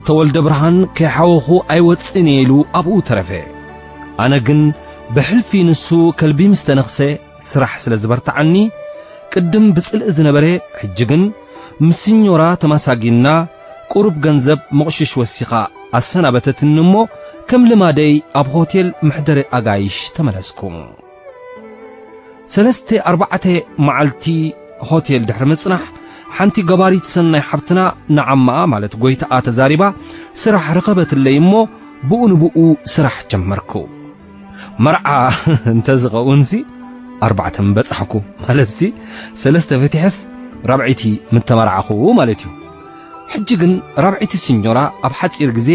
ተወልደ ብርሃን ከይሓወኹ ኣይወጽእን እየ ኢሉ ኣብኡ ተረፈ። ኣነ ግን ብሕልፊ ንሱ ከልቢ ምስ ተነኽሰ ስራሕ ስለ ዝበርትዓኒ፣ ቅድም ብጽልኢ ዝነበረ፣ ሕጂ ግን ምስ ሲኞራ ተማሳጊና፣ ቁሩብ ገንዘብ መቑሽሽ ወሲኻ ኣሰናበተትኒ እሞ፣ ከም ልማደይ ኣብ ሆቴል መሕደሪ ኣጋይሽ ተመለስኩ። ሰለስተ ኣርባዕተ መዓልቲ ሆቴል ድሕሪ ምጽናሕ፣ ሓንቲ ገባሪት ሰናይ ሓብትና ንዓማኣ፣ ማለት ጎይታኣ፣ ተዛሪባ ስራሕ ረኸበትለይ እሞ፣ ብኡ ንብኡ ስራሕ ጀመርኩ። መርዓ እንተዝኸውን ሲ ኣርባዕተ ምበጻሕኩ፣ ማለትሲ ሰለስተ ፈቲሐስ ራብዐይቲ ምተመርዓኹ ማለት እዩ። ሕጂ ግን ራብዐይቲ ሲኞራ ኣብ ሓጺር ግዜ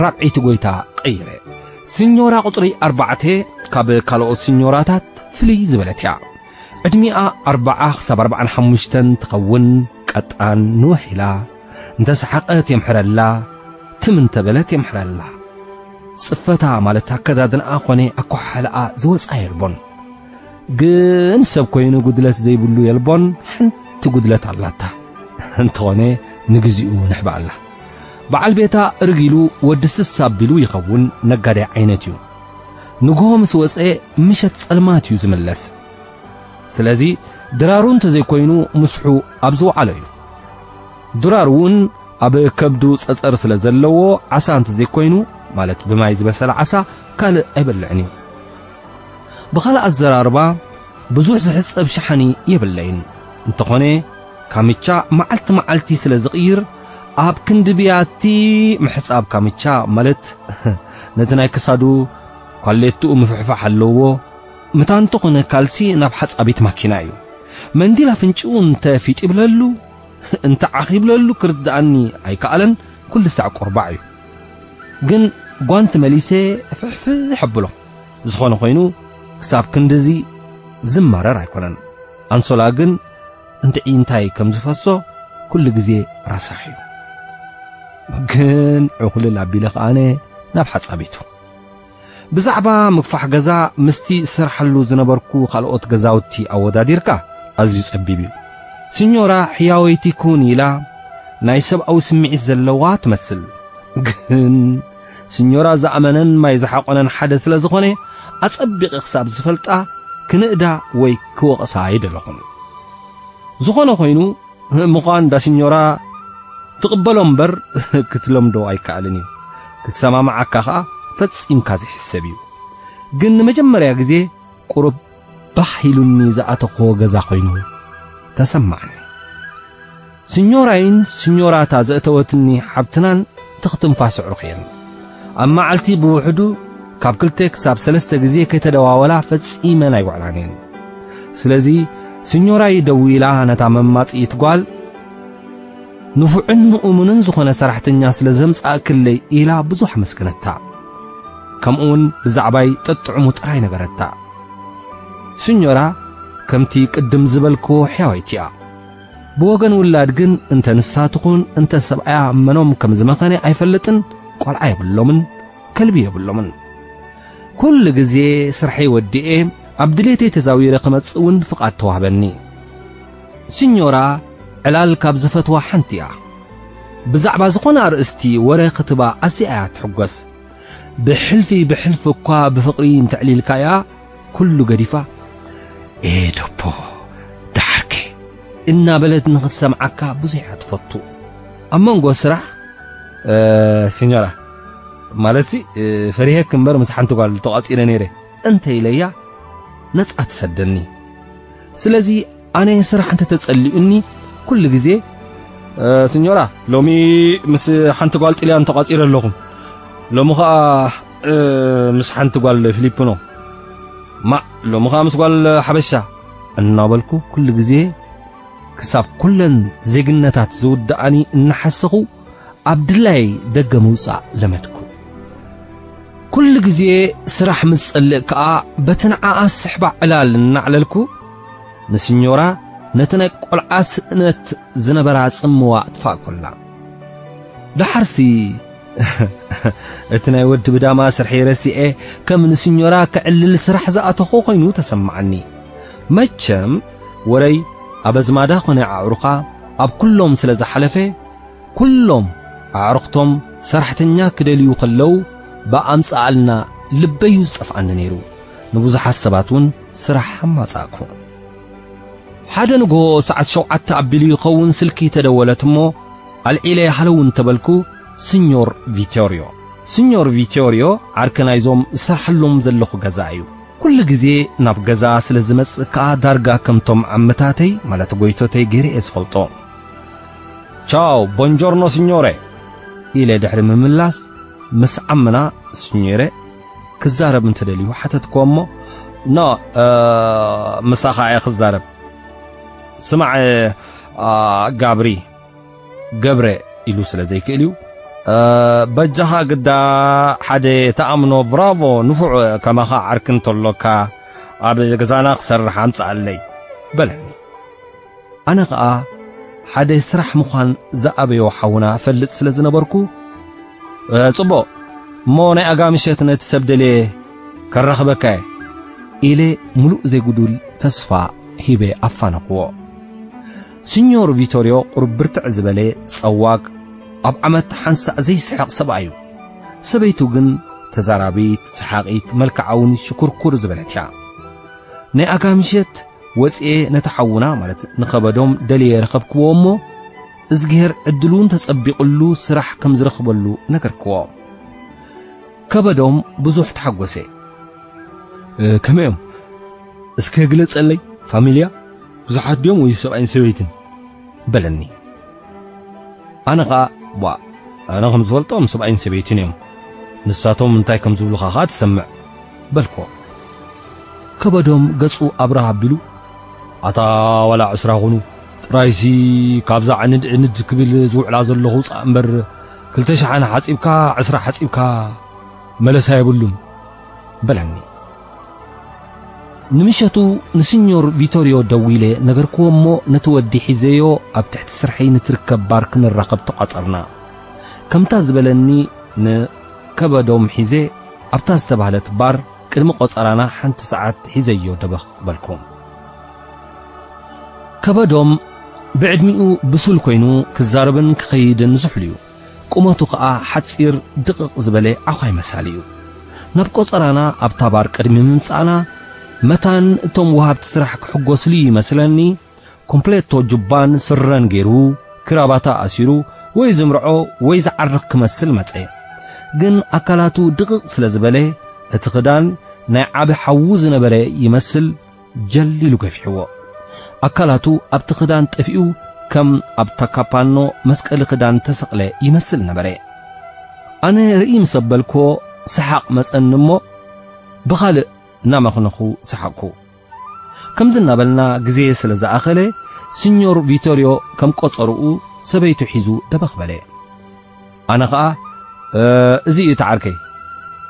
ራብዐይቲ ጎይታ ቀይረ። ሲኞራ ቁጽሪ ኣርባዕተ ካብ ካልኦት ሲኞራታት ፍልይ ዝበለት እያ። ዕድሚኣ ኣርብዓ ክሳብ ኣርብዓን ሓሙሽተን ትኸውን፣ ቀጣን ንውሕ ኢላ፣ እንተሰሓቐት የምሕረላ፣ ትም እንተበለት የምሕረላ። ጽፈታ ማለት ኣከዳድንኣ ኮነ ኣኳሓሕላኣ ዝወጻ የልቦን። ግን ሰብ ኮይኑ ጉድለት ዘይብሉ የልቦን፣ ሓንቲ ጉድለት ኣላታ። እንተኾነ ንግዚኡ ንሕባኣላ። በዓል ቤታ እርግ ኢሉ ወዲ ስስ ኣቢሉ ይኸውን፣ ነጋዳይ ዓይነት እዩ። ንግሆ ምስ ወጸ ምሸት ጸልማት እዩ ዝምለስ። ስለዚ ድራሩ እንተዘይኮይኑ ምስሑ ኣብ ዝወዓሎ እዩ። ድራሩ እውን ኣብ ከብዱ ጸጸር ስለ ዘለዎ ዓሳ እንተዘይኮይኑ፣ ማለት ብማይ ዝበሰለ ዓሳ ካልእ ኣይበልዕን እዩ። ብኻልእ ኣዘራርባ ብዙሕ ዝሕጸብ ሸሓኒ የብለይን። እንተኾነ ካምቻ መዓልቲ መዓልቲ ስለ ዝቕይር ኣብ ክንዲ ብያቲ ምሕጻብ ካምቻ ማለት ነቲ ናይ ክሳዱ ኳሌትኡ ምፍሕፋሕ ኣለዎ። ምታ እንተኾነ ካልሲ ናብ ሓጻቢት ማኪና እዩ። መንዲል ኣፍንጭኡ እንተ ፊጥ ይብለሉ፣ እንተ ዓኽ ይብለሉ ክርድኣኒ ኣይከኣለን፣ ኩሉ ሳዕ ቁርባዕ እዩ። ግን ጓንቲ መሊሰ ፍሕፍሕ ኣብሎ። ዝኾነ ኮይኑ ክሳብ ክንድዚ ዝማረር ኣይኮነን። ኣንሶላ ግን እንድዒ እንታይ ከም ዝፈሶ ኩሉ ግዜ ረሳሕ እዩ። ግን ዕኹልል ኣቢለ ከኣነ ናብ ሓጻቢቱ። ብዛዕባ ምግፋሕ ገዛ ምስቲ ዝሰርሓሉ ዝነበርኩ ካልኦት ገዛውቲ ኣወዳዲርካ ኣዝዩ ጸቢብ እዩ። ሲኞራ ሕያወይቲ ኩን ኢላ ናይ ሰብኣዊ ስምዒት ዘለዋ ትመስል። ግን ሲኞራ ዝኣመነን ማይ ዝሓቆነን ሓደ ስለ ዝኾነ ኣጸቢቐ ክሳብ ዝፈልጣ ክንእዳ ወይ ክወቕሳ ኣይደለኹን። ዝኾነ ኮይኑ ምዃን ዳ ሲኞራ ትቕበሎ እምበር ክትለምዶ ኣይከኣልን እዩ። ክሰማማዓካ ኸኣ ፈጺምካ ዘይሕሰብ እዩ። ግን ንመጀመርያ ግዜ ቁሩብ ባህ ኢሉኒ ዝኣተኽዎ ገዛ ኮይኑ ተሰማዓኒ። ሲኞራይን ሲኞራታ ዘእተወትኒ ሓብትናን ትኽ ትንፋስ ኣዕሩኽ እየን። ኣብ መዓልቲ ብውሕዱ ካብ ክልተ ክሳብ ሰለስተ ግዜ ከይተደዋወላ ፈጺመን ኣይውዕላን እየን። ስለዚ ሲኞራይ ደው ኢላ ነታ መማጽኢት ጓል ንፉዕን ምእሙንን ዝኾነ ሰራሕተኛ ስለ ዘምጻእክለይ ኢላ ብዙሕ ኣመስገነታ። ከምኡውን ብዛዕባይ ጠጥዕሙ ጥራይ ነገረታ። ሲኞራ ከምቲ ቅድም ዝበልክዎ ሕያወይቲ እያ። ብወገን ውላድ ግን እንተ ንሳ ትኹን እንተ ሰብኣያ መኖም ከም ዝመኸነ ኣይፈልጥን፣ ቆልዓ የብሎምን፣ ከልቢ የብሎምን። ኩሉ ግዜ ስርሐይ ወዲኤ ኣብ ድሌተይ ተዛዊረ ክመጽእ እውን ፍቓድ ተዋህበኒ። ሲኞራ ዕላል ካብ ዝፈትዋ ሓንቲ እያ። ብዛዕባ ዝኾነ ኣርእስቲ ወረ ክትባ ኣዝያ እያ ትሕጎስ። ብሕልፊ ብሕልፊ እኳ ብፍቕሪ እንተዕሊልካያ ኩሉ ገዲፋ፣ "ኤ ዶቦ፣ ደሓርከ?" እናበለት ንኽትሰምዓካ ብዙሕ እያ ትፈቱ። ኣብ መንጎ ስራሕ፣ "እ፣ ሲኞራ፣ ማለትሲ፣ እ፣ ፈሪሄክ እምበር ምስ ሓንቲ ጓል ተቋጺረ ነይረ" እንተ ኢለያ ነጻ ትሰደኒ። ስለዚ ኣነ ስራሕ እንተ ተጸሊኡኒ ኩሉ ግዜ፣ "እ፣ ሲኞራ፣ ሎሚ ምስ ሓንቲ ጓል ጥልያን ተቋጺረ ኣለኹ። ሎሚ ኸኣ፣ እ፣ ምስ ሓንቲ ጓል ፊሊፒኖ። ማ፣ ሎሚ ኸኣ ምስ ጓል ሓበሻ" እናበልኩ ኩሉ ግዜ ክሳብ ኩለን ዜግነታት ዝውድኣኒ እናሓሰኹ ኣብ ድላይ ደገ ምውጻእ ለመድኩ። ኩሉ ግዜ ስራሕ ምስ ጸልእ ከኣ በቲ ንዓኣ ስሕባ ዕላል እናዕለልኩ ንሲኞራ ነቲ ናይ ቆልዓ ስእነት ዝነበራ ጽምዋ ኣጥፋእኩላ። ደሓርሲ እቲ ናይ ወዲ ብዳማ ስርሐይ ረሲዐ ከም ንሲኞራ ክዕልል ስራሕ ዝኣተኹ ኮይኑ ተሰማዓኒ። መቸም ወረይ ኣብ ኣዝማዳ ኾነ ኣዕሩኻ ኣብ ኩሎም ስለ ዝሓለፈ፣ ኩሎም ኣዕሩኽቶም ሰራሕተኛ ክደልዩ ከለዉ ብኣምጽኣልና ልበዩ ዝጠፍኣኒ ነይሩ። ንብዙሓት ሰባት እውን ስራሕ ኣማጻእኩ። ሓደ ንግሆ ሰዓት ሸውዓተ ኣቢሉ ይኸውን ስልኪ ተደወለት እሞ ኣልዒለ ሃለው እንተበልኩ ስኞር ቪቶርዮ። ስኞር ቪቶርዮ ዓርኪ ናይዞም ዝሰርሓሎም ዘለኹ ገዛ እዩ። ኩሉ ግዜ ናብ ገዛ ስለ ዝመጽእ ከኣ ዳርጋ ከምቶም ዓመታተይ ማለት ጎይቶተይ ገይረ እየ ዝፈልጦ። ቻው ቦንጆርኖ ስኞረ ኢለ ድሕሪ ምምላስ ምስ ዓምና ስኞረ ክዛረብ እንተደልዩ ሓተትክዎ እሞ ኖ ምሳኻ እየ ክዛረብ። ስማዕ ጋብሪ ገብረ ኢሉ ስለ ዘይክእል እዩ። በጃኻ ግዳ ሓደ ተኣምኖ ብራቮ ንፉዕ ከማኻ ዓርኪ እንተሎካ ኣብ ገዛና ክሰርሕ ኣምጽኣለይ በለኒ። ኣነ ኸኣ ሓደ ስራሕ ምዃን ዝኣበዮ ሓውና እፈልጥ ስለ ዝነበርኩ ጽቡቕ እሞ ናይ ኣጋ ምሸት ነቲ ሰብ ደልየ ከራኽበካ እየ ኢለ ምሉእ ዘይጉዱል ተስፋ ሂበ ኣፋነኽዎ። ስኞር ቪቶርዮ ቁሩብ ብርትዕ ዝበለ ጸዋግ ኣብ ዓመት ሓንሳእ ዘይስሕቕ ሰብኣይ እዩ። ሰበይቱ ግን ተዛራቢት ሰሓቒት መልክዓ እውን ሽኩርኩር ዝበለት እያ። ናይ ኣጋ ምሸት ወጽኤ ነቲ ሓውና ማለት ንኸበዶም ደልየ ረኸብክዎ እሞ እዝግሄር ዕድሉ እንተጸቢቕሉ ስራሕ ከም ዝረኽበሉ ነገርክዎ። ከበዶም ብዙሕ ተሓጎሰ። ከመይ እዮም እስከ ግለጸለይ? ፋሚልያ ብዙሓት ድዮም ወይ ሰብኣይን ሰበይትን? በለኒ። ኣነ ኸኣ ቧ ኣነ ከም ዝፈልጦም ሰብኣይን ሰበይትን እዮም። ንሳቶም እንታይ ከም ዝብሉኻ ኸኣ ትሰምዕ በልኮ። ከበዶም ገጹ ኣብርህ ኣቢሉ ኣታ ዋላ ዕስራ ኹኑ ጥራይሲ ካብዛ ዕንድ ዕንድ ክብል ዝውዕላ ዘለኹ ውጻእ እምበር ክልተ ሸሓነ ሓጺብካ ዕስራ ሓጺብካ መለሳ የብሉን በለኒ። ንምሸቱ ንስኞር ቪቶርዮ ደዊለ ነገርክዎ እሞ ነቲ ወዲ ሒዘዮ ኣብ ትሕቲ ስርሐይ ንትርከብ ባር ክንራኸብ ተቋጸርና። ከምታ ዝበለኒ ንከበዶም ሒዘ ኣብታ ዝተባህለት ባር ቅድሚ ቆጸራና ሓንቲ ሰዓት ሒዘዮ ደበኽ በልኩ። ከበዶም ብዕድሚኡ ብሱል ኮይኑ ክዛረብን ክኸይድን ዝሕሉ እዩ። ቁመቱ ኸኣ ሓጺር ድቕቕ ዝበለ ዓዃይ መሳሊ እዩ። ናብ ቆጸራና ኣብታ ባር ቅድሚ ምምጻእና መታን እቶም ወሃብቲ ስራሕ ክሕጎስሉ ይመስለኒ ኮምፕሌቶ ጁባን ስረን ገይሩ ክራባታ ኣሲሩ ወይ ዝምርዖ ወይ ዝዓርኽ ክመስል መጸ። ግን ኣካላቱ ድቕቕ ስለ ዝበለ እቲ ክዳን ናይ ዓቢ ሓዉ ዝነበረ ይመስል ጀል ኢሉ ገፊሕዎ። ኣካላቱ ኣብቲ ክዳን ጠፊኡ ከም ኣብ ታካፓኖ መስቀሊ ክዳን ተሰቕለ ይመስል ነበረ። ኣነ ርኢ ምስ ኣበልክዎ ሰሓቕ መጸኒ እሞ ብኻልእ እናመኽነኹ ሰሓቕኩ። ከምዚ እናበልና ግዜ ስለ ዝኣኸለ ሲኞር ቪቶርዮ ከም ቆጸርኡ ሰበይቱ ሒዙ ደበኽ በለ። ኣነ ኸኣ እዚ እዩ ተዓርከይ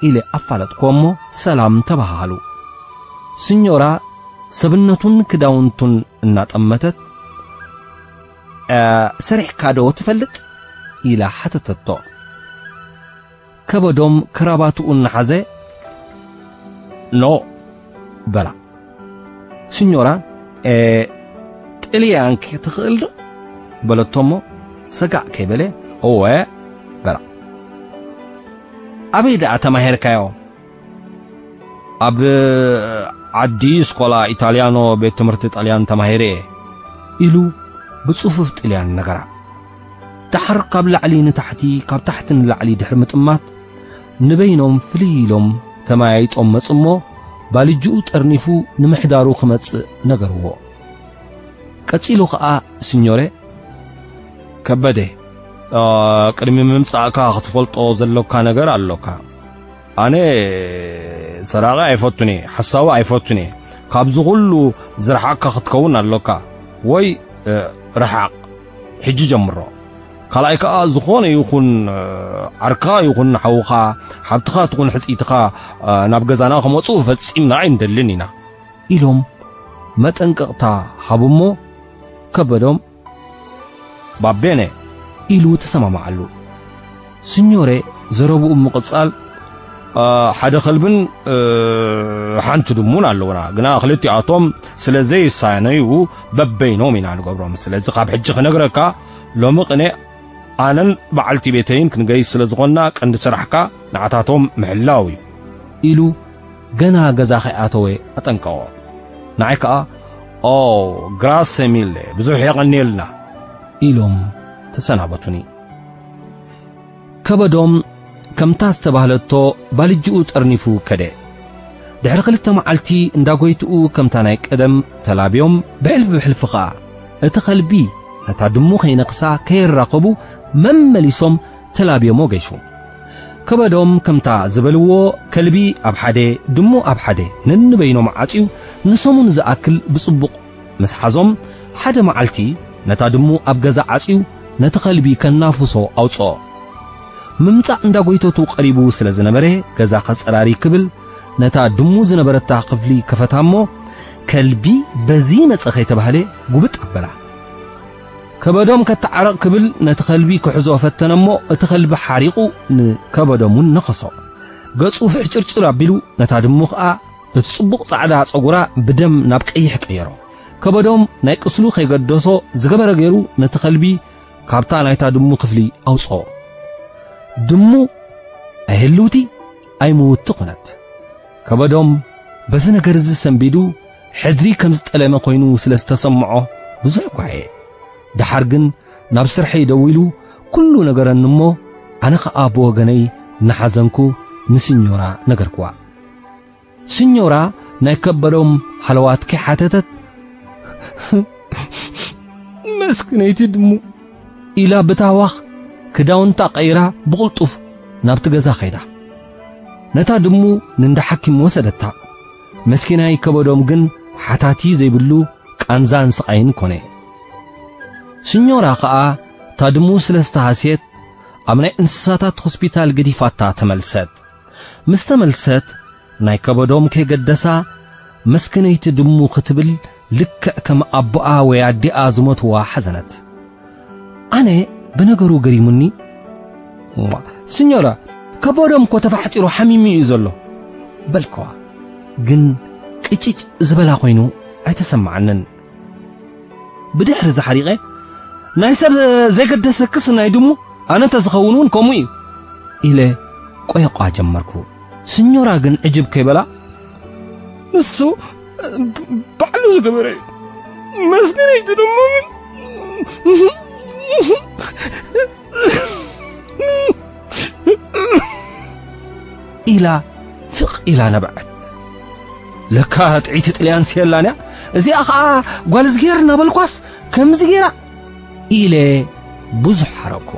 ኢለ ኣፋለጥክዎ እሞ ሰላም ተባሃሃሉ። ስኞራ ሰብነቱን ክዳውንቱን እናጠመተት ሰሪሕካ ዶ ትፈልጥ ኢላ ሓተተቶ። ከበዶም ክራባትኡ እናሓዘ ኖ በላ። ስኞራ ጥልያን ክትኽእል ዶ በለቶ እሞ ሰጋእ ከይበለ እወ በላ። ኣበይ ደኣ ተማሂርካዮ? ኣብ ዓዲ ስኮላ ኢታልያኖ ቤት ትምህርቲ ጣልያን ተማሂረ እየ ኢሉ ብጽፉፍ ጥልያን ነገራ። ደሓር ካብ ላዕሊ ንታሕቲ ካብ ታሕቲ ንላዕሊ ድሕሪ ምጥማት ንበይኖም ፍልይ ኢሎም ተመያይጦም መጹ እሞ ባልጅኡ ጠርኒፉ ንምሕዳሩ ክመጽእ ነገርዎ። ቀጺሉ ኸኣ ስኞሬ ከበደ ቅድሚ ምምጻእካ ክትፈልጦ ዘሎካ ነገር ኣሎካ። ኣነ ሰራቒ ኣይፈቱን እየ፣ ሓሳዊ ኣይፈቱን እየ። ካብዚ ኩሉ ዝረሓቕካ ክትከውን ኣሎካ ወይ ርሓቕ። ሕጂ ጀምሮ። ካልኣይ ከኣ ዝኾነ ይኹን ዓርካ ይኹን ሓውኻ ሓብትኻ ትኹን ሕጽይትኻ ናብ ገዛና ክመጹ ፈጺምና ኣይንደልን ኢና ኢሎም መጠንቀቕታ ሃቡሞ ከበዶም ባቤነ ኢሉ ተሰማማዓሉ። ስኞሬ ዘረብኡ ምቕጻል ሓደ ከልብን ሓንቲ ድሙን ኣለውና ግና ክልቲኣቶም ስለ ዘይሳነዩ በበይኖም ኢና ንገብሮም። ስለዚ ካብ ሕጂ ክነግረካ ሎሚ ቅነ ኣነን በዓልቲ ቤተይን ክንገይሽ ስለ ዝኾንና ቀንዲ ስራሕካ ንዓታቶም ምሕላው እዩ" ኢሉ ገና ገዛ ከይኣተወ ኣጠንቀቖ። ንዓይ ከኣ "ኦ፣ ግራሰ ሚለ፣ ብዙሕ የቐንየልና" ኢሎም ተሰናበቱኒ። ከበዶም ከምታ ዝተባህለቶ ባልጅኡ ጠርኒፉ ከደ። ድሕሪ ክልተ መዓልቲ እንዳ ጎይትኡ ከምታ ናይ ቀደም ተላብዮም ብሕልፊ ብሕልፊ ኸኣ እቲ ከልቢ ነታ ድሙ ከይነኽሳ ከይራኸቡ መመሊሶም ተላብዮሞ ገይሹ። ከበዶም ከምታ ዝበልዎ ከልቢ ኣብ ሓደ ድሙ ኣብ ሓደ ነንበይኖም ዓጽዩ ንሰሙን ዝኣክል ብጽቡቕ ምስ ሓዞም ሓደ መዓልቲ ነታ ድሙ ኣብ ገዛ ዓጽዩ ነቲ ከልቢ ከናፍሶ ኣውጽኦ። ምምጻእ እንዳ ጎይተቱ ቀሪቡ ስለ ዝነበረ ገዛ ከጸራሪ ክብል ነታ ድሙ ዝነበረታ ክፍሊ ከፈታ እሞ ከልቢ በዚ መጸ ከይተባህለ ጉብጥ ኣበላ። ከበዶም ከተዓረቕ ክብል ነቲ ከልቢ ክሕዞ ፈተነ እሞ እቲ ከልቢ ሓሪቑ ንከበዶም እውን ነኸሶ። ገጹ ፍሕጭርጭር ኣቢሉ ነታ ድሙ ኸኣ እቲ ጽቡቕ ጻዕዳ ጸጉራ ብደም ናብ ቀይሕ ቀየሮ። ከበዶም ናይ ቅስሉ ከይገደሶ ዝገበረ ገይሩ ነቲ ከልቢ ካብታ ናይታ ድሙ ክፍሊ ኣውጽኦ። ድሙ ኣይህልውቲ ኣይምውቲ ኾነት። ከበዶም በዚ ነገር እዚ ሰንቢዱ ሕድሪ ከም ዝጠለመ ኮይኑ ስለ ዝተሰምዖ ብዙሕ ጓየ። ደሓር ግን ናብ ስርሐይ ደዊሉ ኩሉ ነገረኒ እሞ ኣነ ኸኣ ብወገነይ እናሓዘንኩ ንስኞራ ነገርክዋ። ስኞራ ናይ ከበዶም ሃለዋት ከይሓተተት "መስክነይቲ ድሙ" ኢላ ብታህዋኽ ክዳውንታ ቀይራ ብቕልጡፍ ናብቲ ገዛ ኸይዳ። ነታ ድሙ ንእንዳ ሓኪም ወሰደታ። መስኪናይ ከበዶም ግን ሓታቲ ዘይብሉ ቃንዛን ስቓይን ኮነ። ስኞራ ኸኣ እታ ድሙ ስለ ዝተሃስየት ኣብ ናይ እንስሳታት ሆስፒታል ገዲፋታ ተመልሰት። ምስ ተመልሰት ናይ ከበዶም ከይገደሳ መስክነይቲ ድሙ ክትብል ልክዕ ከም ኣቦኣ ወይ ኣዲኣ ዝሞትዋ ሓዘነት። ኣነ ብነገሩ ገሪሙኒ፣ "እዋ፣ ስኞራ፣ ከበዶም እኮ ተፋሕጢሩ ሓሚሙ እዩ ዘሎ" በልከዋ። ግን ቅጭጭ ዝበላ ኮይኑ ኣይተሰማዓንን። ብድሕሪ እዚ ሓሪቐ፣ "ናይ ሰብ ዘይገደሰክስ ናይ ድሙ ኣነ እንተዝኸውን እውን ከምኡ እዩ" ኢለ ቆየቋ ጀመርኩ። ስኞራ ግን ዕጅብ ከይበላ፣ "ንሱ ባዕሉ ዝገበረ እዩ። መስክነይቲ ድሙ ግን" ኢላ ፍቕ ኢላ ነብዐት። "ለካ ጥዕይቲ ጥልያን ስየላን እያ፣ እዚኣ ኸኣ ጓል ዝገይር እናበልኳስ ከምዚ ገይራ" ኢለ ብዙሕ ሓረኩ።